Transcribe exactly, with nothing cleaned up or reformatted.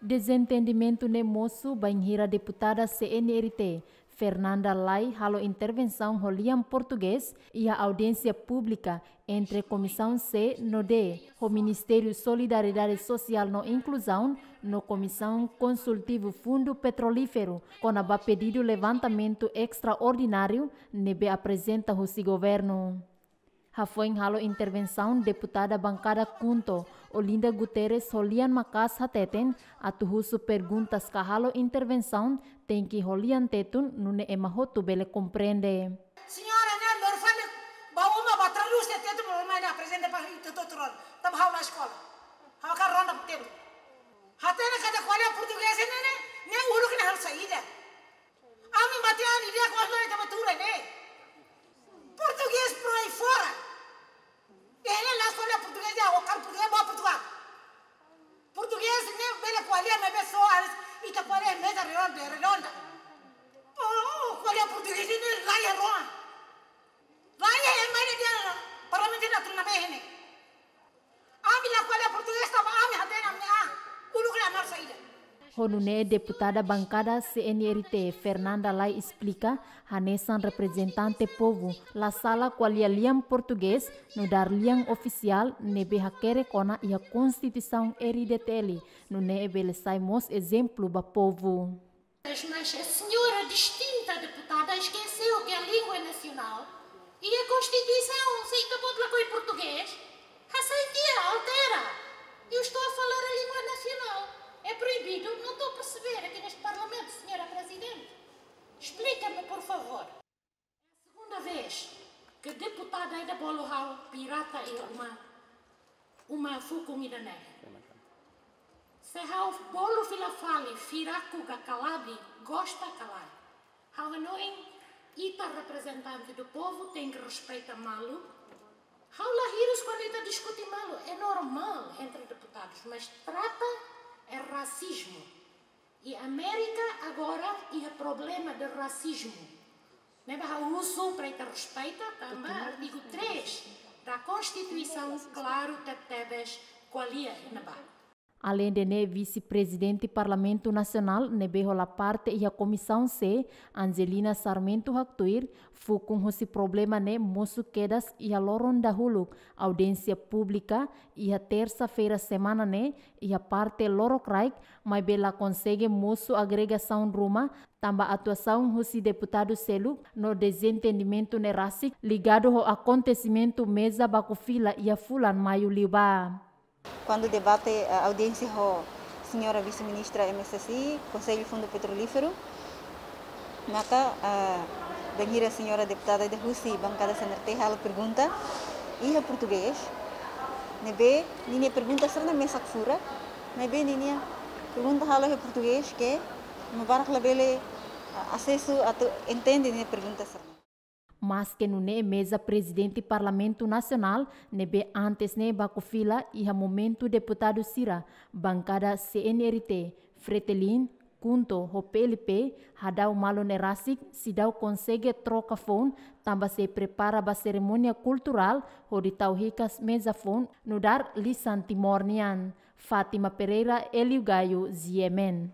Dezentendimentu ne'e mosu bainhira deputada C N R T, Fernanda Lay halo intervensaun ho lian portugés iha audiénsia públika entre Komisaun C no D, ho Ministériu Solidariedade Sosiál no Inkluzaun, no Komisaun Konsultivu Fundu Petrolíferu, kona-ba pedidu levantamentu estraordináriu ne'ebé aprezenta husi governu. Hafoin halo intervensaun, deputada bankada KHUNTO, Olinda Guterres, ho lian maka'as hateten, atu husu perguntas ka halo intervensaun tenke ho lian Tetun, nune'e ema hotu bele komprende. Señora ne'e, loron fali, bá uma, bá tradús iha Tetun, loron mai ne'e aprezenta ba ita tuturol. Tanba ha'u la eskola. Ha'u hakarak ronda Tetun. Hatene katak ko'alia portugés ne'e, ne'e, ne'e uluk ne'e halo saida. Ami matenek ida-ne'e, ko'alia ita bá tuur ne'e. Portugés por aí fora. Ita la eskola portugés, ita hakarak portugés ba Portugal. Portugés ne'e bele ko'alia, maibé só ita ko'alia meza redonda, redonda. Oh, ko'alia portugés ne'e laiha rohan. Laiha ema ida iha Parlamentu Nasionál ne'e. Ami la ko'alia portugés tanba ami hatene ami-nia an. Uluk la halo saida. Ho nune'e deputada bankada C N R T, Fernanda Lay, esplika, hanesan reprezentante povu, la sala ko'alia lian portugés, nu'udar lian ofisiál ne'ebé hakerek ona iha Konstituisaun R D T L, nune'e bele sai mós ezemplu ba povu. Mas a senhora distinta deputada esqueceu que a língua é nacional e a Constituição, se ita-boot lakohi portugés, hasai tiha, altera. Eu estou a falar a língua nacional. É proibido? Não estou a perceber aqui neste Parlamento, senhora Presidente. Explica-me, por favor. Segunda vez que deputada ida bolu ha'u pirata iha uma, uma fukun ida-ne'e. Se ha'u bolu fila fali, firaku ka kalabi, gosta ka lae. Ha'u hanoin, ita reprezentante do povu tenke respeita malu. Ha'u la hirus kuandu ita diskute malu, é normal entre deputados, mas trata é racismo. E América agora iha problema de racismo. Ne'ebé ha'u husu para ita respeita tanba artigo três da Constituição, klaru tebetebes ko'alia iha ne'ebá. Aleinde ne'e, Vise-Prezidente Parlamentu Nasionál ne'ebé hola parte iha Komisaun C, Angelina Sarmento, haktuir, fukun husi problema ne'e mosu kedas iha loron dahuluk audiénsia públika iha tersa-feira semana ne'e iha parte Lorokraik, maibé la konsege mosu agregasaun ruma, tanba atuasaun husi deputadu seluk no dezentendimentu ne'e rasik ligadu ho akontesimentu meza baku fila iha fulan Maiu liubá. Kuandu debate, eh, audiénsia ho señora vise-ministra M S S I, Konsellu Fundu Petrolíferu, maka, eh, bainhira señora deputada ida husi bankada C N R T halo pergunta iha portugés, ne'ebé ninia pergunta sira-ne'e mesak furak, maibé ninia pergunta halo iha portugés ke ema barak labele, eh, asesu atu entende ninia pergunta sira-ne'e. Maske nune'e, meza Prezidente Parlamentu Nasionál ne'ebé antes ne'e baku fila iha momentu deputadu sira bankada C N R T, Fretilin, KHUNTO ho P L P hadau malu ne'e rasik, seidauk konsege troka foun tanba sei prepara ba serimónia kulturál hodi tau hikas meza foun nu'udar lisan Timor nian. Fátima Pereira, Hélio Gaio, G M N.